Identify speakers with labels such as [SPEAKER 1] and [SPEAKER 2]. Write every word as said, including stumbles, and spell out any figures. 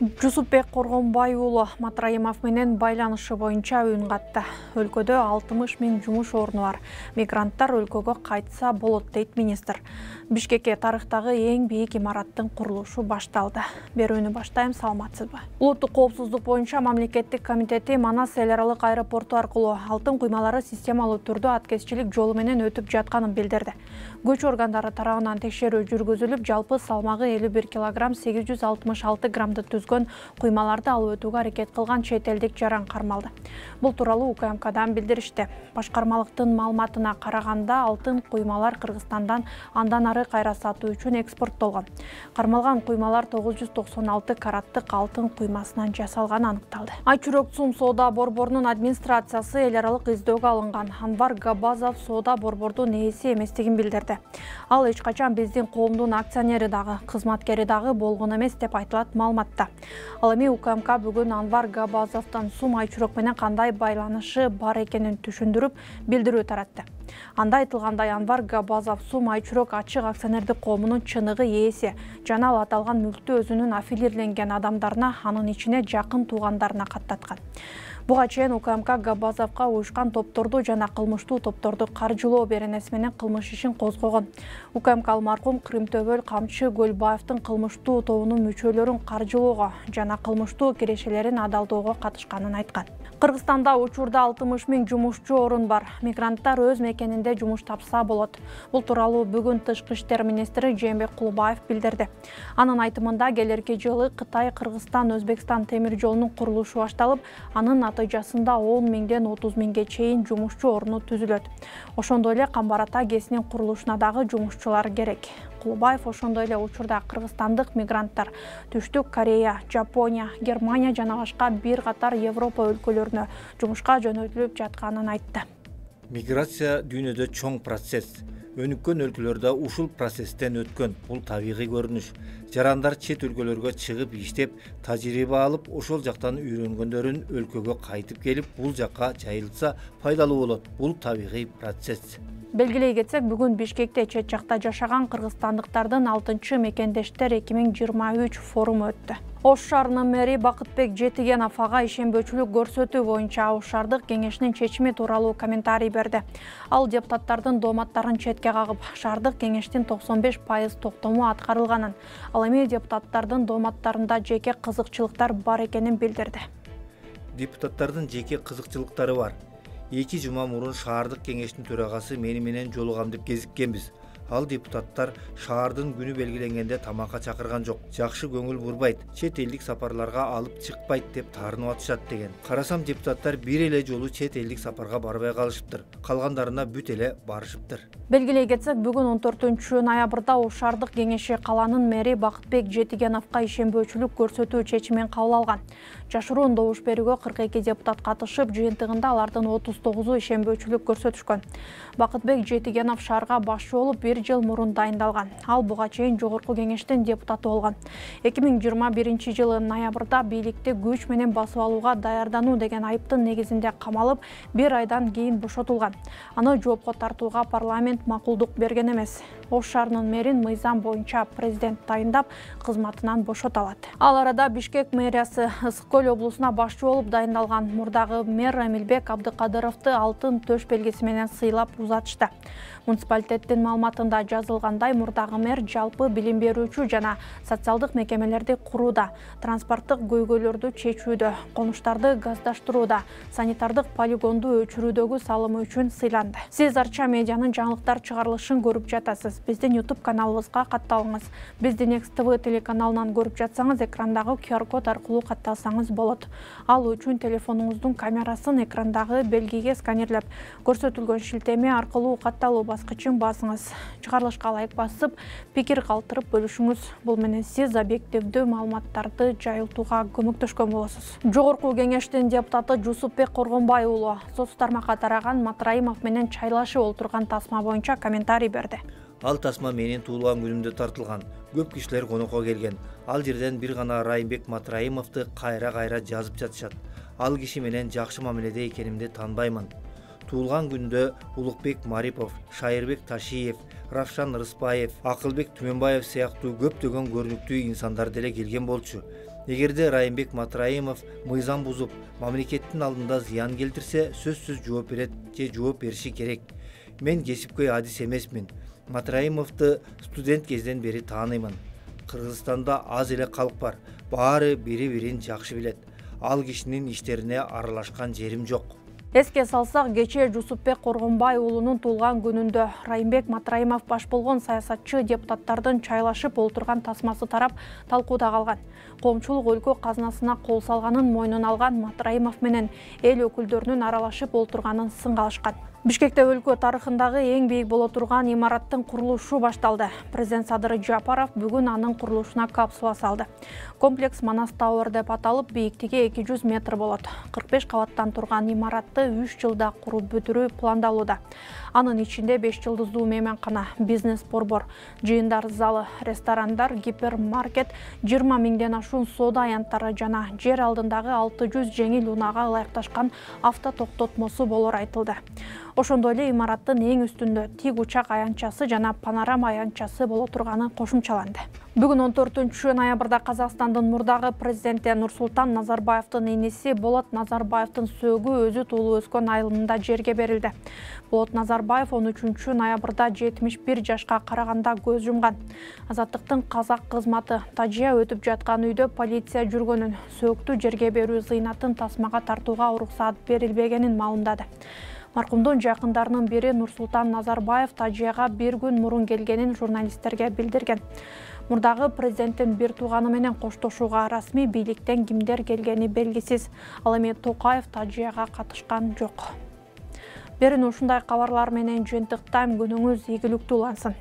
[SPEAKER 1] Жусупбек Коргонбай уулу Матраимов менен байланышы боюнча үн катты. Өлкөдө алтымыш миң жумуш орну бар. Мигранттар өлкөгө кайтса болот дейт министр. Бишкекке тарыхтагы эң бийик имараттын курулушу башталды. Берүүнү баштайм, саламатсызбы? Улуттук коопсуздук боюнча мамлекеттик комитети Манас эл аралык аэропорту аркылуу алтын куймалары системалуу түрдө аткезчилик жолу менен өтүп жатканын билдирди. Көч органдары тарабынан текшерүү жүргүзүлүп, жалпы салмагы элүү бир килограмм сегиз жүз алтымыш алты граммды түзгөн куймаларды алып өтүүгө аракет кылган чет элдик жаран кармалды. Бул тууралуу У К М Кдан билдиришти. Башкармалыктын маалыматына караганда, алтын куймалар Кыргызстандан андан ары кайра сатуу үчүн экспорттолгон. Кармалган куймалар тогуз жүз токсон алты караттык алтын куймасынан жасалганы аныкталды. Айчүрөк Цум соода борборунун администрациясы эл аралык издөөгө алынган Анвар Габазов соода борбордун ээси эместигин билдирди. Ал эч качан биздин коомдун акционери дагы, кызматкери дагы болгон эмес деп айтылат маалыматта. Ал эми У К М К бүгүн Анвар Габазовдон Сум Айчүрөк менен кандай байланышы бар экенин түшүндүрүп, билдирүү таратты. Анда айтылгандай, Анвар Габазов Сум Айчүрөк ачык акционердик коомунун чыныгы ээси жана ал аталган мүлктү өзүнүн аффилирленген адамдарына, анын ичине жакын туугандарына каттаткан. Буга чейин У К М К Габазовго уюшкан топторду жана кылмыштуу топторду каржылоо беренеси менен кылмыш ишин козгогон. У К М К маркум Кырымтөбөл Камчы Көлбаевдин кылмыштуу тобунун мүчөлөрүн каржылоого жана кылмыштуу кирешелерин адалдоого катышканын айткан. Кыргызстанда учурда алтымыш миң жумушчу орун бар. Мигранттар өз мекенинде жумуш тапса болот. Бул тууралуу бүгүн Тышкы иштер министри Жээнбек Кулубаев билдирди. Анын айтымында, келерки жылы Кытай Кыргызстан Өзбекстан темир жолунун курулушу башталып, анын натыйжасында он миңден отуз миңге чейин жумушчу орну түзүлөт. Ошондой эле Камбар-Ата ГЭСинин курулушуна дагы жумушчулар керек. Кулубаев ошондой эле учурда кыргызстандык мигранттар Түштүк Корея, Жапония, Германия жана башка бир катар Европа өлкөлөрүнө жумушка жөнөтүлүп жатканын айтты.
[SPEAKER 2] Миграция дүйнөдө чоң процесс. Өнүккөн өлкөлөрдө ушул процесстен өткөн. Бул табигый көрүнүш. Жарандар чет өлкөлөргө чыгып иштеп, тажрыйба алып, ошол жактан үйрөнгөндөрүн өлкөгө кайтып келип, бул жакка жайылтса пайдалуу болот. Бул табигый процесс.
[SPEAKER 1] Белгилей кетсек, бүгүн Бишкекте чет жакта жашаган кыргызстандыктардын алтынчы мекендештер эки миң жыйырма үч форуму өттү. Ош шаарынын мэри Бакытбек Жетигенов ага ишенбөөчүлүк көрсөтүү боюнча Ош шаардык кеңешинин чечими тууралуу комментарий берди. Ал депутаттардын дооматтарын четке кагып, шаардык кеңештин токсон беш пайыз токтому аткарылганын, ал эми депутаттардын дооматтарында жеке кызыкчылыктар бар экенин билдирди.
[SPEAKER 2] Депутаттардын жеке кызыкчылыктары бар. Эки жума мурун шаардык кеңештин төрагасы мени менен жолугам деп кезиккенбиз. Ал депутаттар шаардын күнү белгиленгенде тамакка чакырган жок. Жакшы көңүл бурбайт, чет элдик сапарларга алып чыкпайт деп таарынып атышат деген. Карасам, депутаттар бир эле жолу чет элдик сапарга барбай калышыптыр. Калгандарына бүт эле барышыптыр.
[SPEAKER 1] Белгилей кетсек, бүгүн он төртүнчү ноябрда Ош шаардык кеңеши каланын мэри Бакытбек Жетигеновго ишенбөөчүлүк көрсөтүү чечимин кабыл алган. Жашыруун добуш берүүгө кырк эки депутат катышып, жыйынтыгында алардын отуз тогузу ишенбөөчүлүк көрсөтүшкөн. Бакытбек Жетигенов шаарга башчы болуп бир жыл мурун дайындалган. Ал буга чейин жогорку кеңештин депутаты болгон. эки миң жыйырма биринчи жылы ноябрда бийликти күч менен басып алууга даярдануу деген айыптын негизинде камалып, бир айдан кийин бошотулган. Аны жоопко тартууга парламент макулдук берген эмес. Ош шаарынын мэрин мыйзам боюнча президент тайындап, кызматынан бошото алат. Ал арада Бишкек мэриясы Ысык Көл облусуна башчы болуп дайындалган мурдагы мэр Эмилбек Абдыкадыровду алтын төш белгиси менен сыйлап узатышты. Муниципалитеттин маалыматында жазылгандай, мурдагы мэр жалпы билим берүүчү жана социалдык мекемелерди курууда, транспорттук көйгөйлөрдү чечүүдө, конуштарды газдаштырууда, санитардык полигонду өчүрүүдөгү салымы үчүн сыйланды. Сиз Арча медианын жаңылыктар чыгарылышын көрүп жатасыз. Биздин YouTube каналыбызга катталыңыз. Бизди Next T V телеканалынан көрүп жатсаңыз, экрандагы Q R код аркылуу катталсаңыз болот. Ал үчүн телефонуңуздун камерасын экрандагы белгиге сканерлеп, көрсөтүлгөн шилтеме аркылуу катталуу баскычын басыңыз. Чыгарылышка лайк басып, пикир калтырып бөлүшүңүз. Бул менен сиз объективдүү маалыматтарды жайылтууга көмөктөшкөн болосуз. Жогорку кеңештин депутаты Жусупбек Коргонбай уулу соц тармакка тараган Матраимов менен чайлашып олтурган тасма боюнча комментарий берди.
[SPEAKER 2] Ал тасма менин туулган күнүмдө тартылган. Көп кишилер конокко келген. Ал жерден бир гана Райымбек Матраимовду кайра-кайра жазып жатышат. Ал киши менен жакшы мамиледе экенимди таанбаймын. Туулган күндө Улукбек Марипов, Шайырбек Ташиев, Равшан Рыспаев, Акылбек Түмөнбаев сыяктуу көптөгөн көрүнүктүү инсандар деле келген болчу. Эгерде Райымбек Матраимов мыйзам бузуп, мамлекеттин алдында зыян келтирсе, сөзсүз жооп берет же жооп бериши керек. Мен кесипкөй адис эмесмин. Матраимовду студент кезден бери тааныймын. Кыргызстанда аз эле калк бар. Баары бири-бирин жакшы билет. Ал кишинин иштерине аралашкан жерим жок.
[SPEAKER 1] Эске салсак, кечээ Жусупбек Коргонбай уулунун туулган күнүндө Райымбек Матраимов баш болгон саясатчы депутаттардын чайлашып олтурган тасмасы тарап талкууда калган. Коомчулук өлкө казынасына кол салганын мойнуна алган Матраимов менен эл өкүлдөрүнүн аралашып олтурганын сынга алышкан. Бишкекте өлкө тарыхындагы эң бийик боло турган имараттын курулушу башталды. Президент Садыр Жапаров бүгүн анын курулушуна капсула салды. Комплекс Манас Тауэр деп аталып, бийиктиги эки жүз метр болот. кырк беш кабаттан турган имаратты үч жылда куруп бүтүрүү пландалууда. Анын ичинде беш жылдыздуу мейманкана, бизнес-борбор, жыйындар залы, ресторандар, гипермаркет, жыйырма миңден ашуун соода аянттары жана жер алдындагы алты жүз жеңил унаага ылайыкташкан автотоктотмосу болор айтылды. Ошондой эле имараттын эң үстүндө тик учак аянтчасы жана панорама аянтчасы боло турганы кошумчаланды. Бүгүн он төртүнчү ноябрда Казакстандын мурдагы президенти Нурсултан Назарбаевдин иниси Болот Назарбаевдин сөөгү өзү туулуп өскөн айылында жерге берилди. Болот Назарбаев он үчүнчү ноябрда жетимиш бир жашка караганда көз жумган. Азаттыктын казак кызматы тажыя өтүп жаткан үйдө полиция жүргөнүн, сөөктү жерге берүү зыйнатын тасмага тартууга уруксат берилбегенин маалымдады. Маркумдун жакындарынын бири Нурсултан Назарбаев тажияга бир күн мурун келгенин журналисттерге билдирген. Мурдагы президенттин бир тууганы менен коштошууга расмий бийликтен кимдер келгени белгисиз. Ал эми Токаев тажияга катышкан жок. Берин ушундай кабарлар менен жыйынтыктайм. Күнүңүз ийгиликтүү улансын.